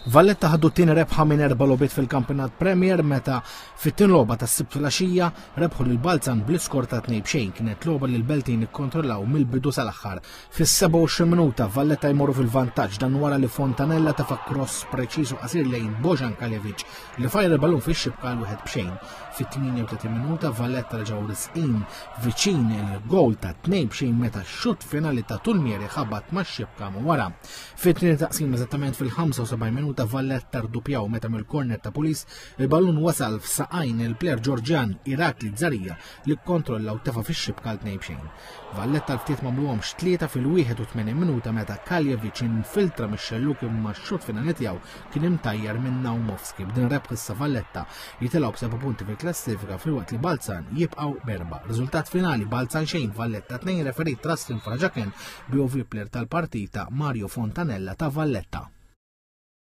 Valletta ħadu t-tieni rebħa minn erba' logħbiet fil-Kampjonat Premier meta fit-tieni logħba tas-Sibt filgħaxija rebħu lil Balzan bl-iskor ta' 2-0. Kienet logħba li l-Beltin ikkontrollaw mill-bidu sal-aħħar. Fis-27 minuta Valletta jmorru fil-vantaġġ dan wara li Fontanella tefa' cross preċiż u qasir lejn Bojan Kaljevic li fajr il-balun fix-xibka għal 1-0. Fit-38 minuta Valletta reġgħu risqin viċin il-gowl ta' 2-0 meta x-xutt finali ta' Tulmieri ħabat max-xibka wara. Fit-tieni taqsim eżattament fil-75 minuta Valletta rdupjaw meta mill-korner ta' Pulis il-ballun wasal f'saqajn il-plejer Ġorġjan Irakli Zarija li kkontrolla u tefa' fix-xibka għal 2-0. Valletta l-ftit m'għamluhomx tlieta fil-81 minuta meta Kaljevic infiltra mix-xelluk imma x-xut finali tiegħu kien imtajjar minn Naumovski. B'din rebħ issa Valletta jitilgħu b'seba' punti fil-klassifika filwaqt li Balzan jibqgħu b'erba'. Riżultat finali Balzan xejn Valletta 2 referit Trustin Fraġaken BOV player tal-partita Mario Fontanella ta' Valletta.